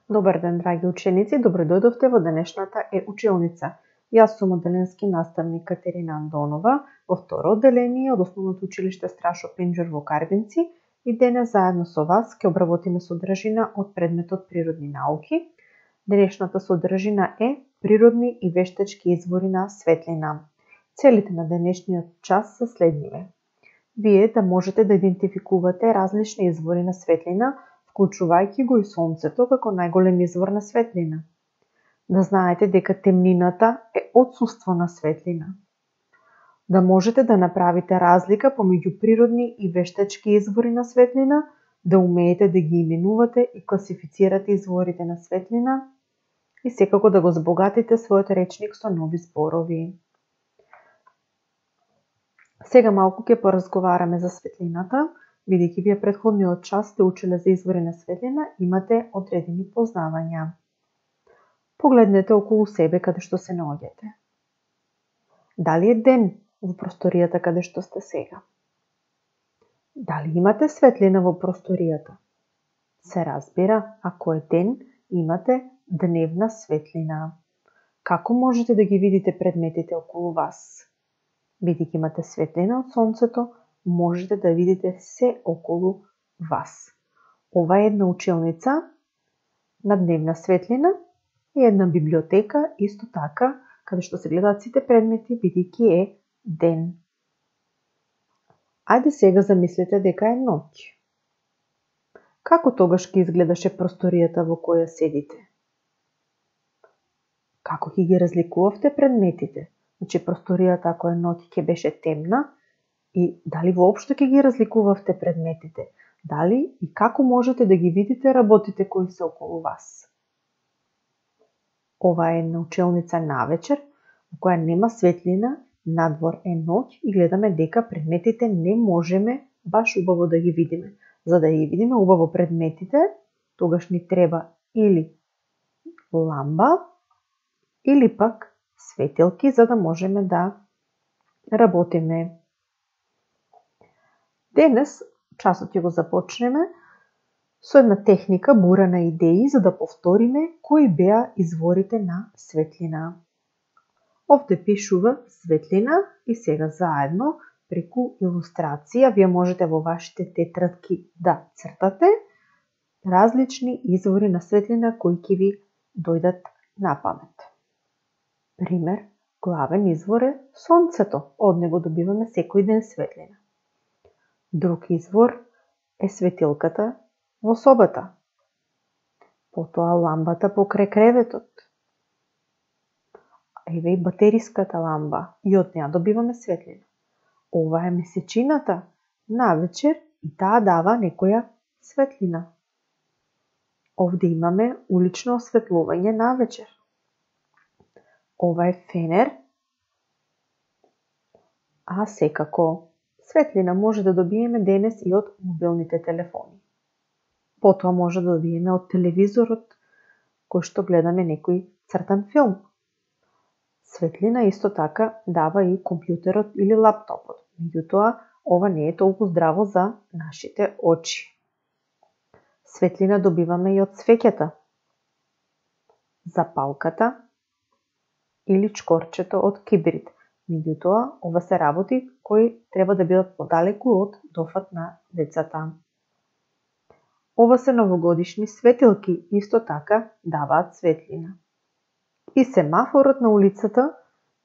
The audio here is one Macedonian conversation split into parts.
Добар ден, драги ученици, добро дојдовте во денешната училница. Јас сум одделенски наставник Катерина Андонова во второ одделение од Основното училиште Страшо Пинџур во Карвинци и денес заедно со вас ќе обработиме содржина од предметот Природни науки. Денешната содржина е природни и вештачки извори на светлина. Целите на денешниот час се следниве. Вие да можете да идентификувате различни извори на светлина, вклучувајќи го и сонцето како најголем извор на светлина. Да знаете дека темнината е отсуство на светлина. Да можете да направите разлика помеѓу природни и вештачки извори на светлина, да умеете да ги именувате и класифицирате изворите на светлина и секако да го збогатите својот речник со нови зборови. Сега малку ќе поразговараме за светлината. Бидејќи вие претходниот час сте учеле за извори на светлина, имате одредени познавања. Погледнете околу себе каде што се наоѓате. Дали е ден во просторијата каде што сте сега? Дали имате светлина во просторијата? Се разбира, ако е ден, имате дневна светлина. Како можете да ги видите предметите околу вас? Бидејќи имате светлина од сонцето, можете да видите се околу вас. Ова е една училница на дневна светлина и една библиотека, исто така, каде што се гледаат сите предмети, бидејќи е ден. Ајде сега замислете дека е ноќ. Како тогаш ќе изгледаше просторијата во која седите? Како ќе ги разликувавте предметите? Значи, просторијата ако е ноќ ќе беше темна, и дали воопшто ќе ги разликувавте предметите? Дали и како можете да ги видите работите кои се околу вас? Ова е една училница навечер, во која нема светлина, надвор е ноќ и гледаме дека предметите не можеме баш убаво да ги видиме. За да ги видиме убаво предметите, тогаш ни треба или ламба, или пак светилки, за да можеме да работиме. Денес часот ќе го започнеме со една техника бура на идеи за да повториме кои беа изворите на светлина. Овде пишува светлина и сега заедно преку илустрација вие можете во вашите тетрадки да цртате различни извори на светлина кои ќе ви дојдат на памет. Пример, главен извор е сонцето, од него добиваме секој ден светлина. Друг извор е светилката во собата. Потоа ламбата покрај креветот. Еве и батериската ламба, и од неа добиваме светлина. Ова е месечината навечер и таа дава некоја светлина. Овде имаме улично осветлување навечер. Ова е фенер, а секако светлина може да добиеме денес и од мобилните телефони. Потоа може да добиеме од телевизорот, кој што гледаме некој цртан филм. Светлина исто така дава и компјутерот или лаптопот. Меѓутоа, ова не е толку здраво за нашите очи. Светлина добиваме и од свеќата, запалката или чкорчето од кибрид. Меѓутоа, ова се работи кои треба да бидат подалеку од дофат на децата. Ова се новогодишни светилки, исто така даваат светлина. И семафорот на улицата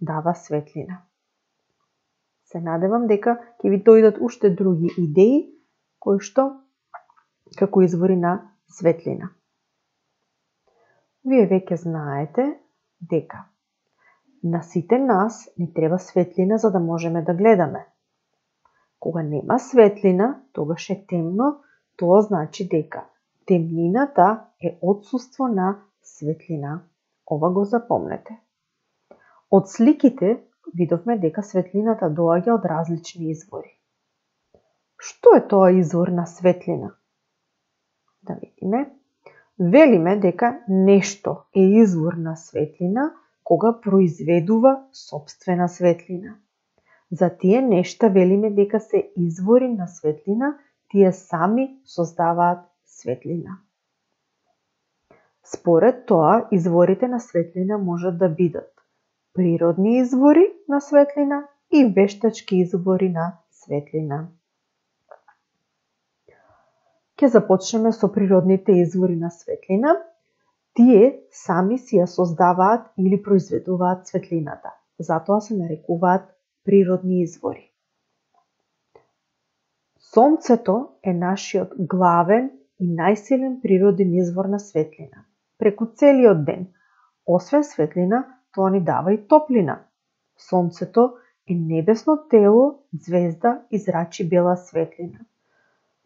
дава светлина. Се надевам дека ќе ви дојдат уште други идеи кои што како извори на светлина. Вие веќе знаете дека на сите нас ни треба светлина за да можеме да гледаме. Кога нема светлина, тогаш е темно, тоа значи дека темнината е отсуство на светлина. Ова го запомнете. Од сликите видовме дека светлината доаѓа од различни извори. Што е тоа извор на светлина? Да видиме. Велиме дека нешто е извор на светлина кога произведува сопствена светлина. За тие нешта велиме дека се извори на светлина, тие сами создаваат светлина. Според тоа, изворите на светлина можат да бидат природни извори на светлина и вештачки извори на светлина. Ќе започнеме со природните извори на светлина. Тие сами си ја создаваат или произведуваат светлината. Затоа се нарекуваат природни извори. Сонцето е нашиот главен и најсилен природен извор на светлина. Преку целиот ден, освен светлина, тоа ни дава и топлина. Сонцето е небесно тело, ѕвезда и зрачи бела светлина.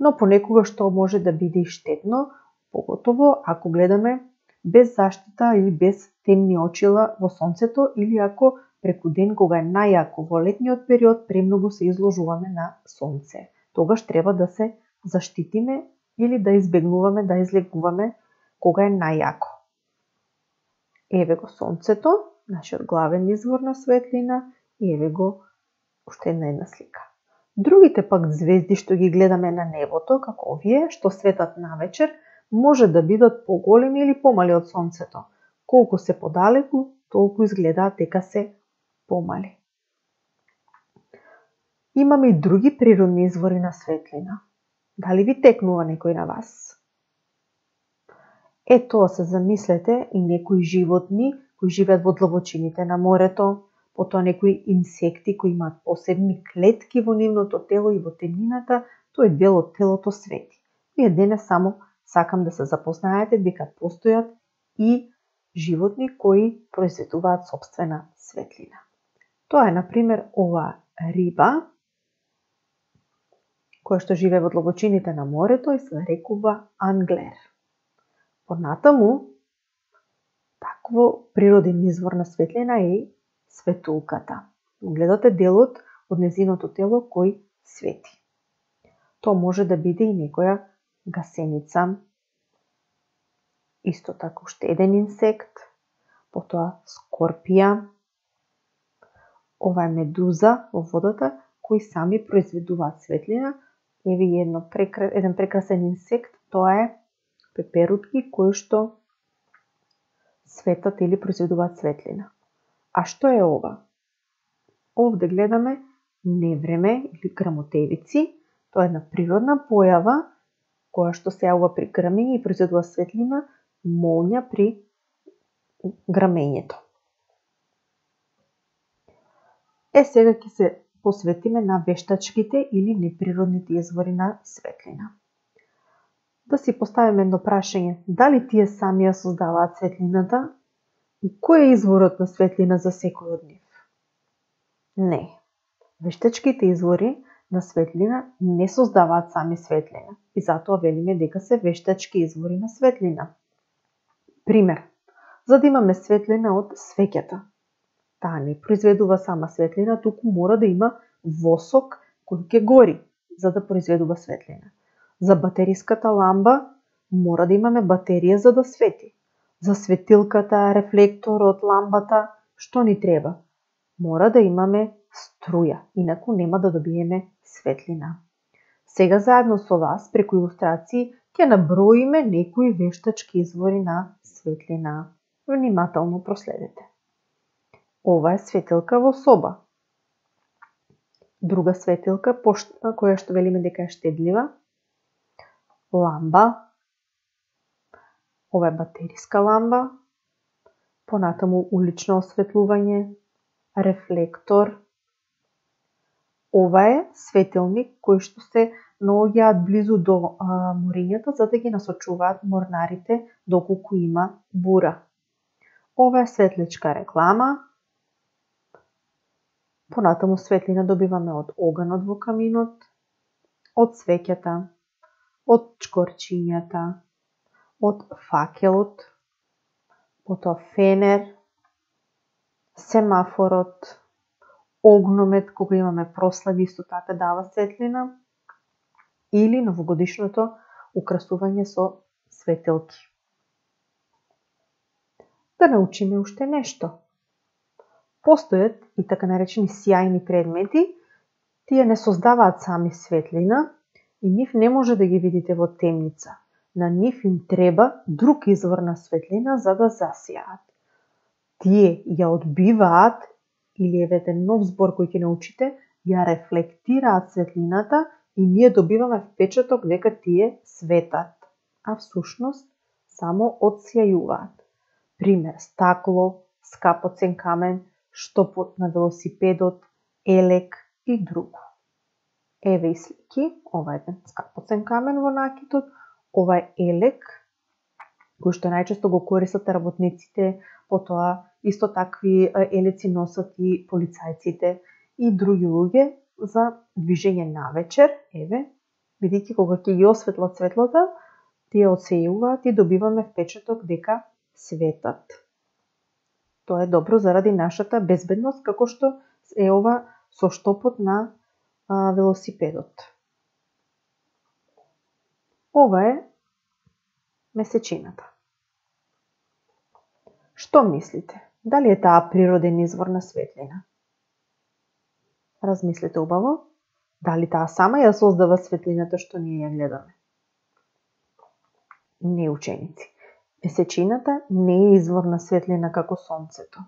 Но понекогаш тоа може да биде и штетно, поготово ако гледаме без заштита или без темни очила во сонцето или ако преку ден кога е најако во летниот период премногу се изложуваме на сонце. Тогаш треба да се заштитиме или да избегнуваме да излегуваме кога е најако. Еве го сонцето, нашиот главен извор на светлина, и еве го уште една слика. Другите пак звезди што ги гледаме на небото, како овие што светат навечер, може да бидат поголеми или помали од сонцето. Колку се подалеку, толку изгледаат дека се помали. Имаме и други природни извори на светлина. Дали ви текнува некој на вас? Тоа се замислете и некои животни кои живеат во длабочините на морето, потоа некои инсекти кои имаат посебни клетки во нивното тело и во темнината, тој дел од телото свети. Вие денес само сакам да се запознаете дека постојат и животни кои произведуваат сопствена светлина. Тоа е, например, ова риба, која што живее во длабочините на морето и се нарекува англер. Понатаму, такво природен извор на светлина е светулката. Гледате делот од незиното тело кој свети. Тоа може да биде и некоја гасеница. Исто така уште еден инсект, потоа скорпија. Ова е медуза во водата кои сами произведуваат светлина. Еве еден прекрасен инсект, тоа е пеперутки кои што светат или произведуваат светлина. А што е ова? Овде гледаме невреме или грамотевици. Тоа е една природна појава која што се јавува при грамење и произведува светлина, молња при грамењето. Сега ќе се посветиме на вештачките или неприродните извори на светлина. Да си поставиме едно прашање, дали тие сами ја создаваат светлината и кој е изворот на светлина за секој од нив? Не. Вештачките извори на светлина не создаваат сами светлина и затоа велиме дека се вештачки извори на светлина. Пример, за да имаме светлина од свеќата. Таа не произведува сама светлина, туку мора да има восок кој ќе гори за да произведува светлина. За батериската ламба мора да имаме батерија за да свети. За светилката, рефлекторот, ламбата, што ни треба? Мора да имаме струја, инаку нема да добиеме светлина. Сега заедно со вас, преку илустрации, ќе наброиме некои вештачки извори на светлина. Внимателно проследете. Ова е светилка во соба. Друга светилка, која што велиме дека е штедлива. Ламба. Ова е батериска ламба. Понатаму улично осветлување. Рефлектор. Ова е светилник кој што се наоѓаат близу до морињата за да ги насочуваат морнарите доколку има бура. Ова е светличка реклама. Понатаму светлина добиваме од оганот во каминот, од свеќата, од чкорчињата, од факелот, потоа фенер, семафорот, огномет кога имаме прослави исто така дава светлина или новогодишното украсување со светелки. Да научиме уште нешто. Постојат и така наречени сјајни предмети, тие не создаваат сами светлина и нив не може да ги видите во темница. На нив им треба друг извор на светлина за да засијаат. Тие ја одбиваат, или евете нов збор кој ќе научите, ја рефлектираат светлината и ние добиваме впечаток дека тие светат, а всушност само одсјајуваат. Пример, стакло, скапоцен камен, штопот на велосипедот, елек и друго. Еве и слики, ова е еден скапоцен камен во накитот, ова е елек, кој што најчесто го користат работниците, потоа исто такви елеци носат и полицајците и други луѓе за движење навечер, еве, бидејќи кога ќе ги осветлат светлата, тие одсејуваат и добиваме впечаток дека светат. Тоа е добро заради нашата безбедност, како што е ова со штопот на велосипедот. Ова е месечината. Што мислите? Дали е таа природен извор на светлина? Размислете убаво. Дали таа сама ја создава светлината што ние ја гледаме? Не, ученици. Месечината не е извор на светлина како сонцето.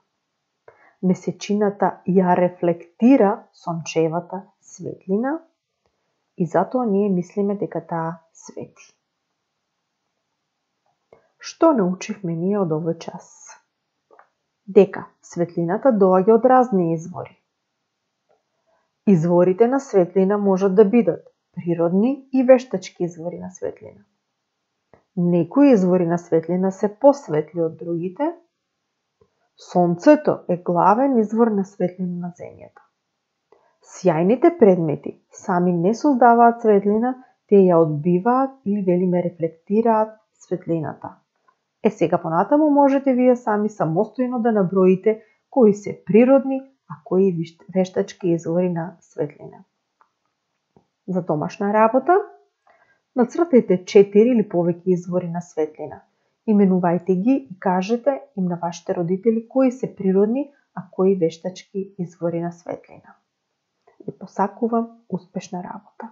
Месечината ја рефлектира сончевата светлина и затоа ние мислиме дека таа свети. Што научивме ние од овој час? Дека светлината доаѓа од разни извори. Изворите на светлина можат да бидат природни и вештачки извори на светлина. Некои извори на светлина се посветли од другите. Сонцето е главен извор на светлина на земјата. Сјајните предмети сами не создаваат светлина, те ја одбиваат или велиме рефлектираат светлината. Сега понатаму можете вие сами самостојно да наброите кои се природни, а кои вештачки извори на светлина. За домашна работа, нацртајте 4 или повеќе извори на светлина. Именувајте ги и кажете им на вашите родители кои се природни, а кои вештачки извори на светлина. Ви посакувам успешна работа.